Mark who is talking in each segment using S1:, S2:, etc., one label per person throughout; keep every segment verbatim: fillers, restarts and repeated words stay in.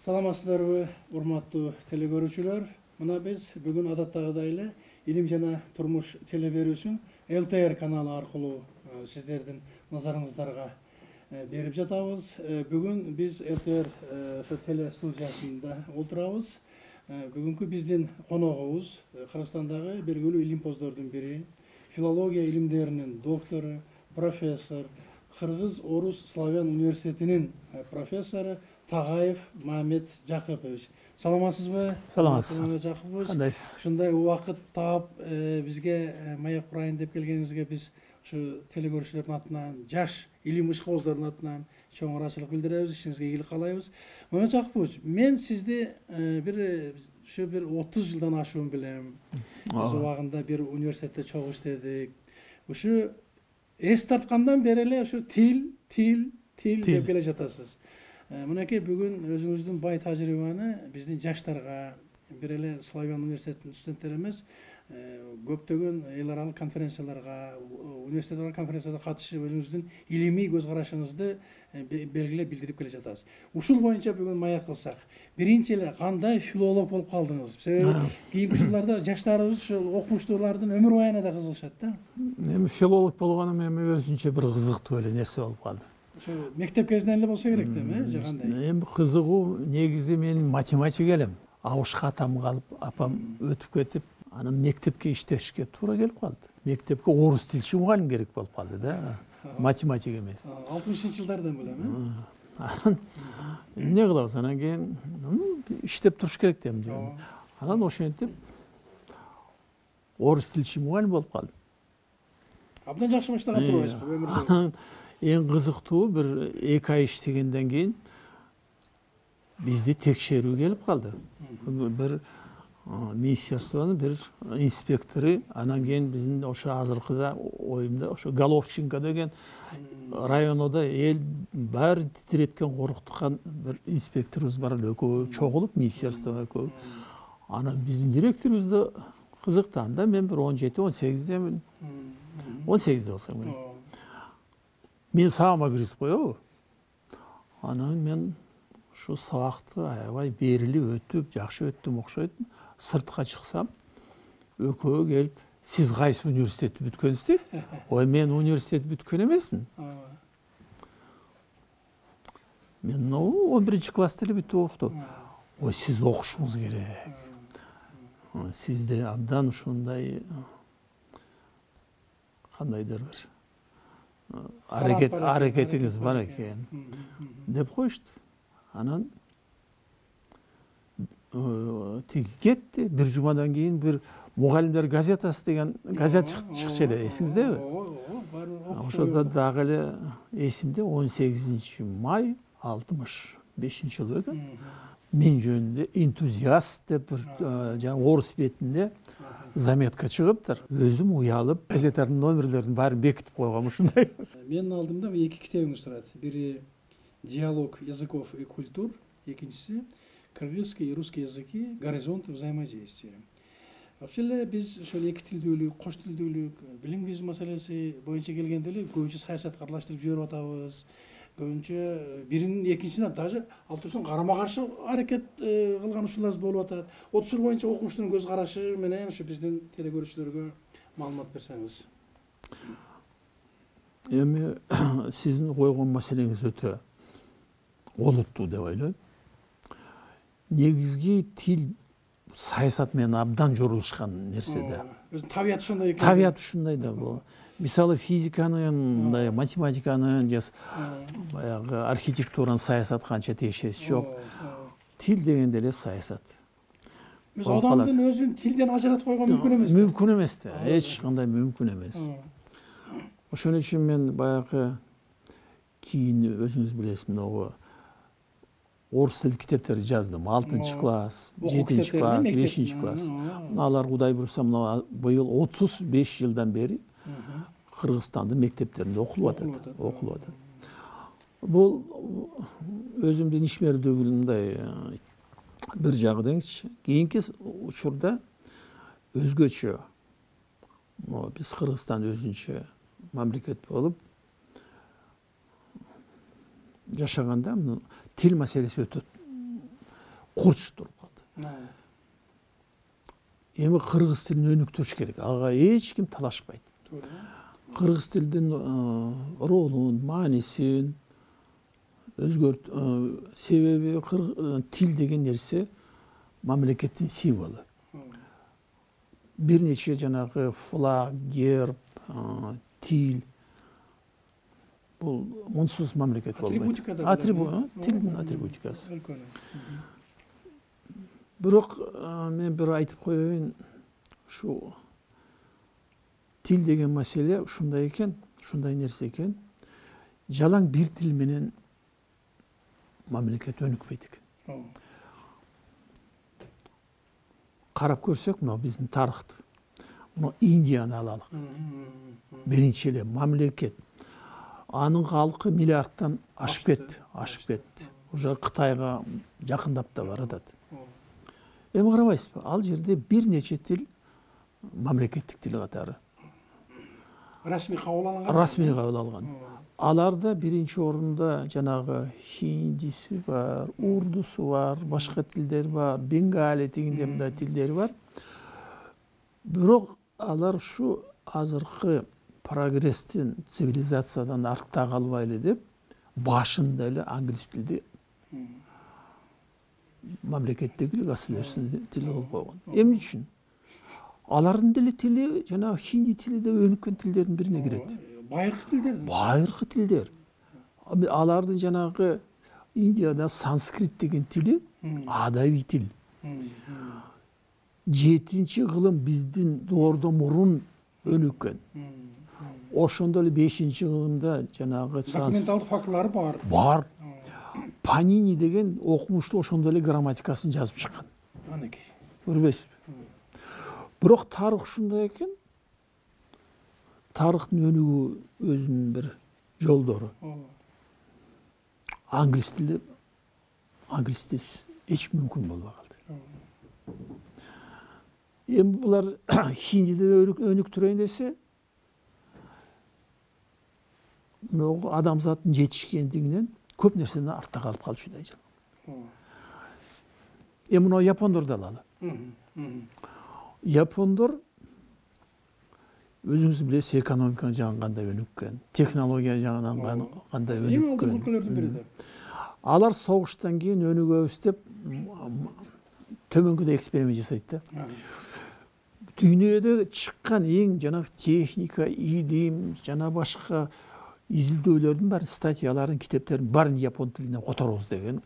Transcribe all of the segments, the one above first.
S1: Саламатсыздарбы, урматтуу телекөрүүчүлөр. Мына биз бүгүн адаттагыдай эле Илим жана турмуш телеберүүсүн Л Т Р каналы аркылуу сиздердин назарыңыздарга берип жатабыз. Бүгүн биз Л Т Р ошо теле студиясында отурабыз. Бүгүнкү биздин коногубуз Кыргызстандагы белгилүү илимпоздордун бири, филология илимдеринин доктору, профессор, Кыргыз-Орус славян университетинин профессору Тагаев Мамет Жакыпович. Саламатсызбы?
S2: Саламатсыз.
S1: Мамет Жакыпович.
S2: Кандайсыз?
S1: Ушундай убакыт таап бизге маек курайын деп келгениңизге биз ушу телекөрүүчүлөрдүн атынан, жаш илим ишкобоздордун атынан чоң ыраазычылык билдиребиз, ишиңизге ийгилик каалайбыз. Мамет Жакыпович, мен сизди бир ушу бир отуз жылдан ашуун билем. Биз убагында бир университетте чогуу иштедик. Ушу эс тарткандан бери эле ушу тил, тил, тил деп келе жатасыз. Мынакей бүгүн өзүңүздүн бай тажрыйбаны биздин жаштарга, бир эле Славян университетинин студенттери эмес, көптөгөн эл аралык конференцияларга, университет конференцияда катышып, өзүңүздүн илимий көз карашыңызды белгилеп билдирип келе жатасыз. Ушул боюнча бүгүн маек кылсак, биринчи эле кандай филолог болуп калдыңыз? Себеби кийинки жылдарда жаштарыбыз ушул окумуштуулардын өмүр баянына да кызыгышат да.
S2: Эми филолог болгонум эми өзүнчө бир кызыктуу эле нерсе болуп калды.
S1: Ошо мектеп кезинен эле болсо керек да, э, же кандай?
S2: Эми кызыгуу негизи мен математик элем. Абышка атам калып, апам өтүп кетип, анан мектепке иштешке туура келип калды. Мектепке орус тилчи мугалим керек болуп калды да, математик эмес.
S1: алтымышынчы жылдардан белем,
S2: э? Эмне кылабыз? Анан кийин иштеп туруш керек дем. Анан ошентип орус тилчи мугалим болуп калдым.
S1: Абдан жакшы баштаган турбайсызбы өмүрдө?
S2: Эң кызыктуу бир эки ай иштегенден кийин бизди текшерүү келип калды. Бир министерствонун бир инспектору, анан кийин биздин ошо азыркыда оюмда ошо Головченко деген районуда эл баары титиреткен, коркуткан бир инспекторубуз бар эле, экөө чогулуп, министерство экөө. Анан биздин директорубузду кызыктанды. Мен бир он жети он сегиздемин. он сегизде болсом керек. Мен сабагыма киргизип коебу. Анан мен ушу сабакты аябай берилип өтүп, жакшы өттүм окшойт. Сыртка чыксам, экөө келип, сиз кайсы университетти бүткөнсүз дейт. Ой, мен университет бүткөн эмесмин. Мен он биринчи класста эле бүтүп окутуп. Ой, сиз окушуңуз керек. Сизде абдан ушундай кандайдыр бир аракет аракетиңиз бар экен деп коюшту. Анан тиги кетти. Бир жумадан кийин бир мугалимдер газетасы деген газет чыкчу эле, эсиңиздеби? Ошодо дагы эле эсимде он сегизинчи май алтымыш бешинчи жыл экен. Мен жөнүндө энтузиаст деп бир жаңы орус бетинде заметка чыгыптыр. Өзүм уялып, газеттердин номерлерин баарын бекитип койгом ушундай.
S1: Менин алдымда эки китебиңиз турат. Бири «Диалог языков и культур», экинчиси «Кыргызский и русский языки. Горизонты взаимодействия». Вообще эле биз ошол эки тилдүүлүк, кош тилдүүлүк, билингвизм маселеси боюнча келгенде эле көбүнчө саясатка аралаштырып жиберип атабыз. Көбүнчө биринин экинчисине даже ал туруштан карама каршы аракет кылган ушулар болуп атат. Ошол боюнча окумуштун көз карашы менен ушу биздин телекөрүүчүлөргө маалымат берсеңиз.
S2: Эми сиздин койгон маселеңиз өтө олуттуу деп ойлойм. Негизги тил саясат менен абдан жорулушкан нерсе да.
S1: Өзүнүн табияты ошондой экен.
S2: Табияты ушундай да бул. Мисалы физиканын, мындай математиканын, же баягы архитектуранын саясатка канча тиешеси жок. Тил дегенде эле саясат.
S1: Өз адамдын өзүн тилден ажыратып койгон мүмкүн эмес.
S2: Мүмкүн эмес да. Эч кандай мүмкүн эмес. Ошон үчүн мен баягы кийин өзүңүз билесиз, могу орус тил китептерди жаздым. алтынчы класс, жетинчи класс, бешинчи класс. Алар Кудай буйруса мына быйыл отуз беш жылдан бери Кыргызстандын мектептеринде окулуп атат, окулуп атат. Бул өзүмдүн ишмердүүлүгүмдай бир жагы деңизчи. Кийинки учурда өзгөчө биз Кыргызстан өзүнчө мамлекет болуп жашаганда тил маселеси өтө курч туруп калды. Эми кыргыз тилин өнүктүрүш керек. Ага эч ким талашпайт. Кыргыз тилдин ролун, маанисин өзгөрт, себеби тил деген нерсе мамлекеттин символу. Бир нече жанагы флаг, герб, тил бул мунсуз мамлекет болбойт. Атрибутика, тилдин атрибутикасы. Бирок мен бир айтып коеюн, ушу тил деген маселе ушундай экен, ушундай нерсе экен. Жалаң бир тил менен мамлекет өнүкпөйт экен. Карап көрсөк, мына биздин тарыхты. Мына Индияны алалык. Биринчи эле мамлекет. Анын калкы миллиардтан ашып кетти, ашып кетти. Уже Кытайга жакындап да баратат. Эми карабайсызбы, ал жерде бир нече тил мамлекеттик тил катары.
S1: Расмий кабыл алынган.
S2: Расмий кабыл алган. Аларда биринчи орунда жанагы хиндиси бар, урдусу бар, башка тилдер бар, бенгали дегенде мындай тилдери бар. Бирок алар ушу азыркы прогресстин, цивилизациядан артта калбайлы деп, башында эле англис тилди мамлекеттеги государственный тил кылып койгон. Эмне үчүн? Алардын деле тили жанагы хинди тили деп өнүккөн тилдердин бирине кирет.
S1: Байыркы тилдер.
S2: Байыркы тилдер. Алардын жанагы Индияда санскрит деген тили адабий тил. Жетинчи кылым биздин доордон мурун өнүккөн. Ошондо эле бешинчи кылымда жанагы
S1: документалдык фактылары бар.
S2: Бар. Панини деген окумушту ошондо эле грамматикасын жазып чыккан.
S1: Анакей.
S2: Көрбөйсүзбү? Бирок тарых ушундай экен. Тарыхтын өнүгүү өзүнүн бир жолдору. Англис тили, англис тилсиз эч мүмкүн болбой калды. Эми булар хиндиде өнүктүрөйүн десе, могу адамзаттын жетишкендигинен көп нерседен артта калып калчудай жыл. Эми мына япондорду алалы. Япондор өзүңүз билесиз, экономика жагынан кандай өнүккөн, технология жагынан кандай өнүккөн.
S1: Эң алдыңкы өлкөлөрдүн бири да.
S2: Алар согуштан кийин өнүгөбүз деп төмөнгөдө эксперимент жасайт да. Дүйнөдө чыккан эң жанагы техника, илим, жана башка изилдөөлөрдүн баары, статьяларын, китептердин баарын япон тилине которобуз деген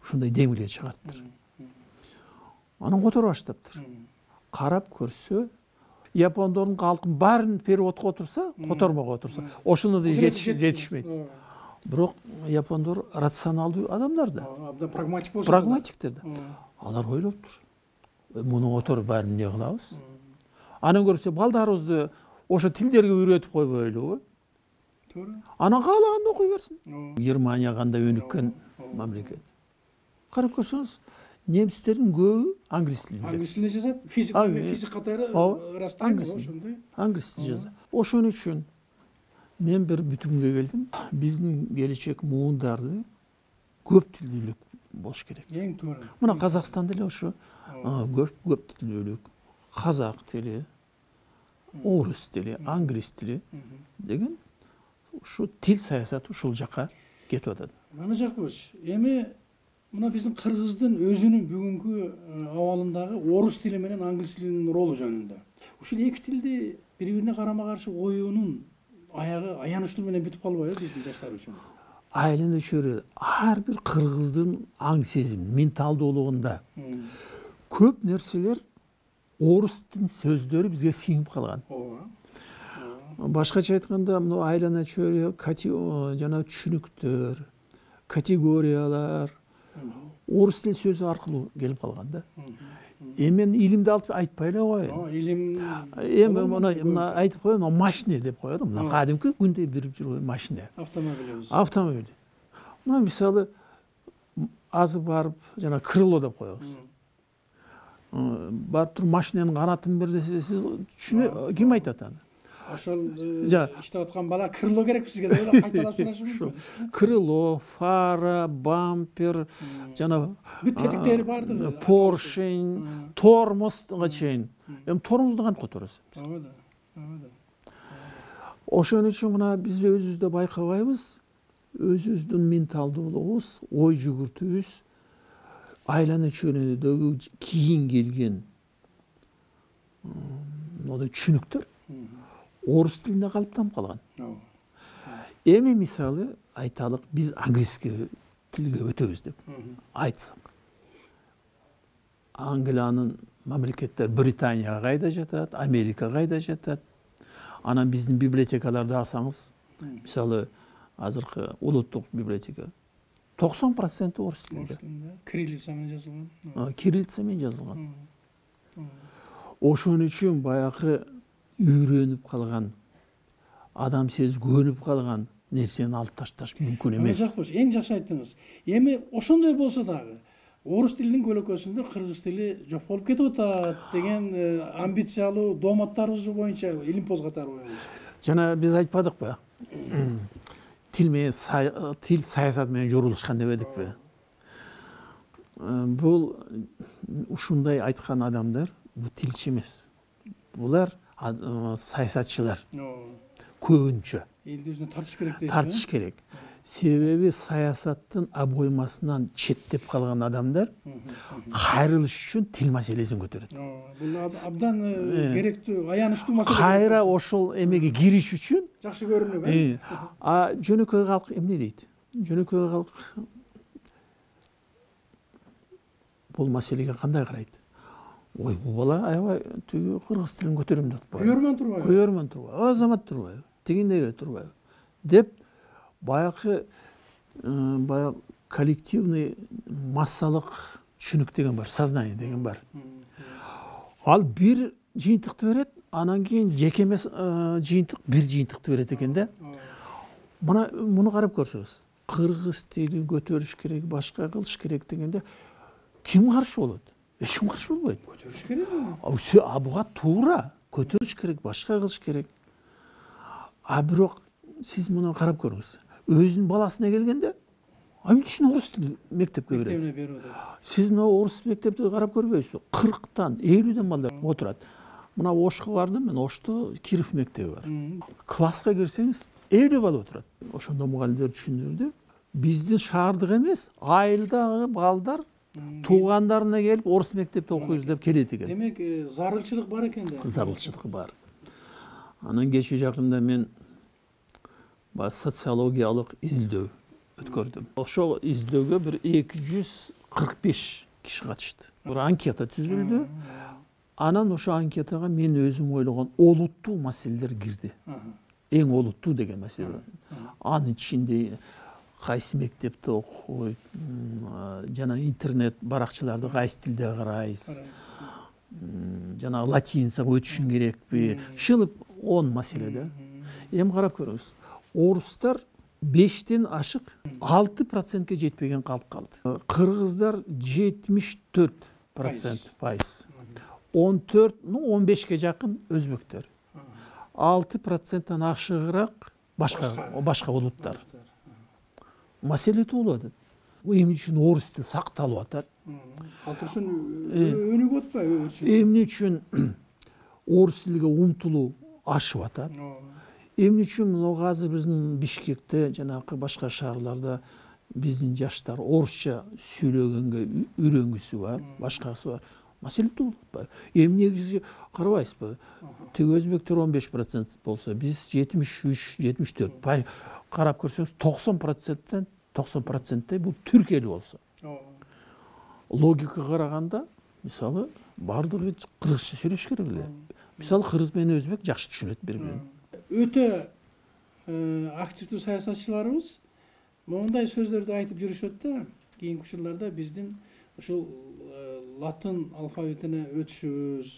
S2: ушундай демилге чыгарттыр. Анан которо баштаптыр. Карап көрсө, япондордун калкын баарын переводко отурса, котормого отурса, ошондо да жетишмейт. Бирок япондор рационалдуу адамдар да.
S1: Абдан прагматик болсо.
S2: Прагматиктер да. Алар ойлоптур. Муну которуп баарын эмне кылабыз? Анан көрсө, балдарыбызды ошо тилдерге үйрөтүп койбойлубу? Туура. Анан каалаганды окуй берсин. Германия кандай өнүккөн мамлекет. Карап көрсөңүз, немистердин көбү англис тилинде.
S1: Англис тилинде жазат. Физика, физик катары ырастайбы ошондой.
S2: Англис тилинде жазат. Ошон үчүн мен бир бүтүмгө келдим. Биздин келечек муундарды көп тилдүүлүк болуш керек.
S1: Эң туура.
S2: Мына Казакстанда эле ошо көп көп тилдүүлүк, казак тили, орус тили, англис тили деген ушу тил саясаты ушул жака кетип атат.
S1: Мына жакпыз. Эми мына биздин кыргыздын өзүнүн бүгүнкү абалындагы орус тили менен англис тилинин ролу жөнүндө. Ушул эки тилди бири-бирине карама-каршы коюунун аягы аянычтуу менен бүтүп калбайбы биздин жаштар үчүн?
S2: Айылын өчөрү ар бир кыргыздын аң сезим, менталдуулугунда көп нерселер орус тилинин сөздөрү бизге сиңип калган. Башкача айтканда, мына айлана чөйрө жана түшүнүктөр, категориялар орус тил сөзү аркылуу келип калган да. Эми мен илимди алып айтпай эле коеюн.
S1: Илим
S2: эми мына айтып коеюн, машина деп коет, мына кадимки күндө бирип жүргөн машина.
S1: Автомобиль.
S2: Автомобиль. Мына мисалы азыр барып жана крыло деп коебуз. Барып туруп машинанын канатын бер десе, сиз түшүнө ким айтат аны?
S1: ошол иштеп аткан бала крыло керек бизге деп эле кайталап сурашы мүмкүн.
S2: Крыло, фара, бампер, жана
S1: бүт тетиктери бардыгы.
S2: Поршень, тормозго чейин. Эми тормозду кантип которосуз?
S1: Ооба да. Ооба да.
S2: Ошон үчүн мына биз өзүбүздө байкабайбыз. Өзүбүздүн менталдуулугубуз, ой жүгүртүүбүз, айлана чөйрөдөгү кийин келген мындай түшүнүктөр орус тилинде калыптанып калган. Эми мисалы айталык, биз английский тилге өтөбүз деп айтсак. Англиянын мамлекеттер Британияга кайда жатат, Америка кайда жатат. Анан биздин библиотекаларды алсаңыз, мисалы азыркы улуттук библиотека токсон проценти орус тилинде.
S1: Кириллица менен жазылган.
S2: Кириллица менен жазылган. Ошон үчүн баягы үйрөнүп калган, адам сезип көнүп калган нерсени алып ташташ мүмкүн эмес.
S1: Эң жакшы айттыңыз. Эми ошондой болсо дагы орус тилинин көлөкөсүндө кыргыз тили жок болуп кетип атат деген амбициялуу дооматтарыбыз боюнча илим козготор оюңуз.
S2: Жана биз айтпадыкпы? Тил менен тил саясат менен жорулушкан дебедикпи? Бул ушундай айткан адамдар бул тилчи эмес. Булар саясатчылар. Көбүнчө.
S1: Элди өзүнө тартыш керек дейсиз.
S2: Тартыш керек. Себеби саясаттын обоймасынан четтеп калган адамдар кайрылыш үчүн тил маселесин көтөрөт.
S1: Бул абдан керектүү, аянычтуу маселе.
S2: Кайра ошол эмеге кириш үчүн
S1: жакшы көрүнүп, э?
S2: А жөнөкөй калк эмне дейт? Жөнөкөй калк бул маселеге кандай карайт? Ой, бул бала аябай түгү кыргыз тилин көтөрөм деп атпайбы?
S1: Көйөрмөн турбайбы?
S2: Көйөрмөн турбайбы? Азамат турбайбы? Тигиндей турбайбы? Деп баягы баягы коллективный массалык түшүнүк деген бар, сознание деген бар. Ал бир жыйынтыкты берет, анан кийин жеке эмес жыйынтык бир жыйынтыкты берет экен да. Мына муну карап көрсөңүз, кыргыз тилин көтөрүш керек, башка кылыш керек дегенде ким каршы болот? Эч ким каршы болбойт.
S1: Көтөрүш керек эми.
S2: А буга туура, көтөрүш керек, башка кылыш керек. А бирок сиз муну карап көрүңүз. Өзүнүн баласына келгенде, эмне үчүн орус тил мектепке берет?
S1: Мектебине берип атат.
S2: Сиз мына орус мектепти карап көрбөйсүз? кырктан, элүүдөн балдар отурат. Мына Ошко бардым мен, Ошто Киров мектеби бар. Класска кирсеңиз, элүү бала отурат. Ошондо мугалимдер түшүндүрдү. Биздин шаардык эмес, айылдагы балдар туугандарына келип орус мектепте окуйбуз деп келет экен.
S1: Демек, зарылчылык бар экен да.
S2: Зарылчылык бар. Анан кечээ жакында мен социологиялык изилдөө өткөрдүм. Ошол изилдөөгө бир эки жүз кырк беш киши катышты. Бир анкета түзүлдү. Анан ошо анкетага мен өзүм ойлогон олуттуу маселелер кирди. Эң олуттуу деген маселе. Анын ичинде кайсы мектепте окуйт, жана интернет баракчаларды кайсы тилде карайсыз, жана латиницага өтүшүң керекпи, шылып он маселе да. Эми карап көрүңүз. Орустар бештен ашык алты процентке жетпеген калып калды. Кыргыздар жетимиш төрт процент пайыз. он төрт, ну он бешке жакын өзбектер. алты проценттен ашыгыраак башка башка улуттар. Маселе туулуп атат. Эмне үчүн орус тили сакталып атат?
S1: Ал үчүн өнүгүп атпайбы?
S2: Эмне үчүн орус тилге умтулуу ашып атат? Эмне үчүн мына азыр биздин Бишкекте жанагы башка шаарларда биздин жаштар орусча сүйлөгөнгө үйрөнгүсү бар, башкасы бар. Маселе туулуп атпайбы? Эмне негизи карабайсызбы? Тиги өзбектер он беш процент болсо, биз жетимиш үч жетимиш төрт. Карап көрсөңүз токсон проценттен токсон проценттей бул түркелүү болсо. Логикага караганда, мисалы, бардыгы кыргызча сүйлөш керек эле. Мисалы, кыргыз менен өзбек жакшы түшүнөт бири-бирин.
S1: Өтө активдүү саясатчыларыбыз мондай сөздөрдү айтып жүрүшөт да, кийинки учурларда биздин ушул латын алфавитине өтүшүбүз,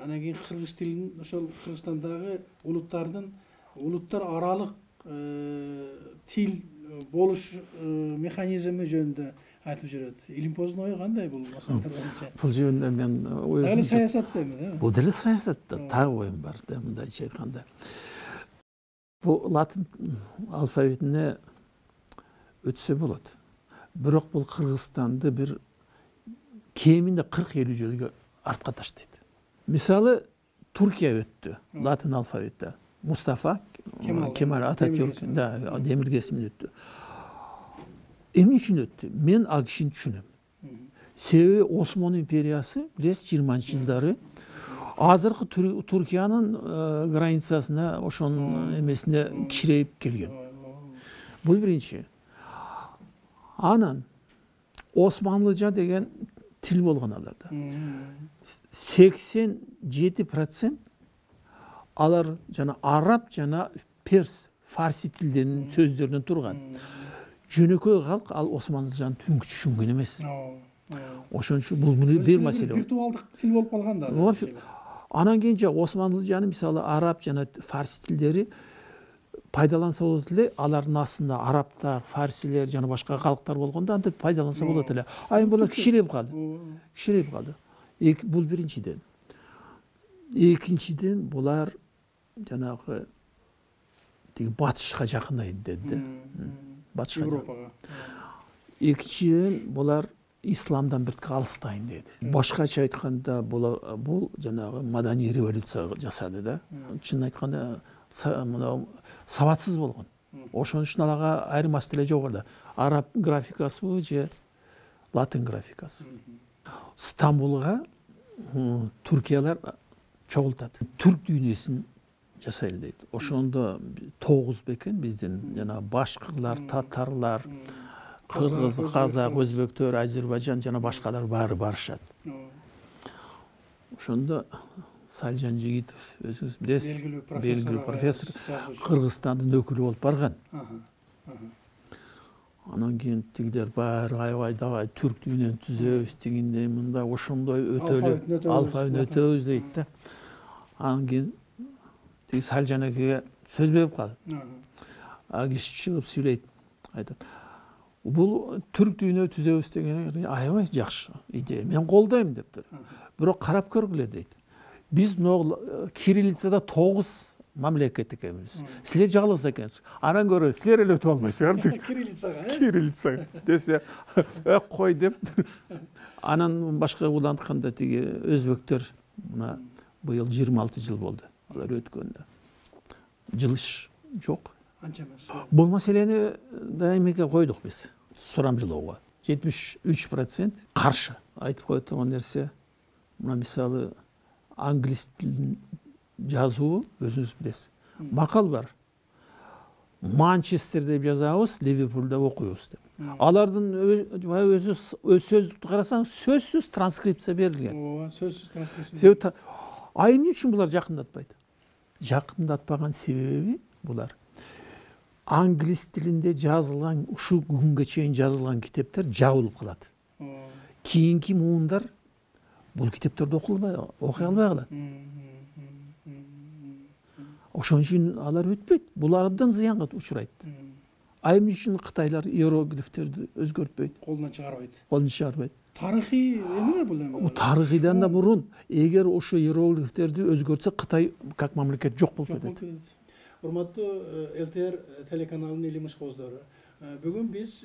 S1: анан кийин кыргыз тилин ошол Кыргызстандагы улуттардын улуттар аралык тил болуш механизми жөнүндө айтып жүрөт. Илимпоздун ою кандай бул маселелер боюнча?
S2: Бул жөнүндө мен
S1: Дагы саясатта эми, да?
S2: Бул деле саясатта так оюм бар да, мындайча айтканда. Бул латын алфавитине өтсө болот. Бирок бул Кыргызстанды бир кеминде кырк элүү жылга артка таштайт. Мисалы, Туркия өттү латын алфавитте. Мустафа Кемал Ататюрк да демиргесимен өттү. Эмне үчүн өттү? Мен ал кишини түшүнөм. Себеби Осман империясы билесиз жыйырманчы жылдары азыркы Туркиянын границасына, ошонун эмесине кичирейип келген. Бул биринчи. Анан Османлыжа деген тил болгон аларда. сексен жети процент алар жана араб жана перс, фарси тилдеринин сөздөрүнөн турган. Жөнөкөй калк ал Османлыжаны түнкү түшүнгөн эмес. Ошон үчүн бул бир маселе.
S1: Виртуалдык тил болуп калган да.
S2: Анан кийин Османлыжаны мисалы араб жана фарси тилдери пайдаланса болот эле, алардын астында арабтар, фарсилер жана башка калктар болгондо антип пайдаланса болот эле. А эми булар кичирейип калды. Кичирейип калды. Бул биринчиден. Экинчиден булар жанагы тиги батышка жакындайт деди. Батышка Европага. Экинчиден булар исламдан бир алыстайын деди. Башкача айтканда булар бул жанагы маданий революция жасады да. Чынын айтканда мына сабатсыз болгон. Ошон үчүн аларга айрым маселе жок эле. Араб графикасыбы же латын графикасы. Стамбулга Туркиялар чогултат. Түрк дүйнөсүн жасайлы дейт. Ошондо тогуз бекен биздин жана башкырлар, татарлар, кыргыз, казак, өзбектөр, Азербайжан жана башкалар баары барышат. Ошондо Сальжан Жигитов өзүңүз билесиз, белгилүү профессор, Кыргызстандын өкүлү болуп барган. Анан кийин тигилер баары аябай давай түрк дүйнөнү түзөбүз дегенде мында ошондой өтөлү алфавитин өтөбүз дейт да. Анан кийин тиги Сальжан экеге сөз берип калды. А киши чыгып сүйлөйт, айтат. Бул түрк дүйнө түзөбүз деген аябай жакшы идея. Мен колдойм дептир. Бирок карап көргүлө дейт. Биз могу кириллицада тогуз мамлекет экенбиз. Силер жалгыз экенсиз. Анан көрө силер эле өтүп албайсыңар. Кириллицага, э? Кириллицага десе, "Ök кой" деп. Анан башка улантканда тиги өзбектөр мына быйыл жыйырма алты жыл болду. Алар өткөндө. Жылыш жок. Анча эмес. Бул маселени дайымеке койдук биз. Сурамжылоого. жетимиш үч процент каршы. Айтып кое турган нерсе, мына мисалы англис тилин жазуу өзүңүз билесиз. Макал бар. Манчестер деп жазабыз, Ливерпулда окуйбуз деп. Алардын өзү сөздүктү карасаң, сөзсүз транскрипция берилген. Ооба, сөзсүз транскрипция. А эмне үчүн булар жакындатпайт? Жакындатпаган себеби булар англис тилинде жазылган, ушул күнгө чейин жазылган китептер жабылып калат. Кийинки муундар бул китептерди окуй окуй албай калат. Ошон үчүн алар өтпөйт. Булар абдан зыянга учурайт. А эмне үчүн Кытайлар иероглифтерди өзгөртпөйт? Колунан чыгарбайт. Колунан чыгарбайт. Тарыхый эмне бул эми? Тарыхыйдан да мурун, эгер ошо иероглифтерди өзгөртсө, Кытай как мамлекет жок болуп кетет. Урматтуу эл тэ эр телеканалынын илим ишкоздору, бүгүн биз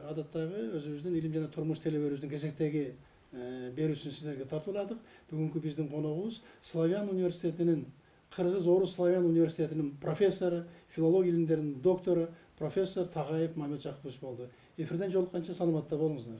S2: адаттагы өзүбүздүн илим жана турмуш телебөрүбүздүн кезектеги берүүсүн сиздерге тартууладык. Бүгүнкү биздин коногубуз Славян университетинин, Кыргыз Орус Славян университетинин профессору, филология илимдеринин доктору, профессор Тагаев Мамет Жакыпович болду. Эфирден жолукканча саламатта болуңуздар.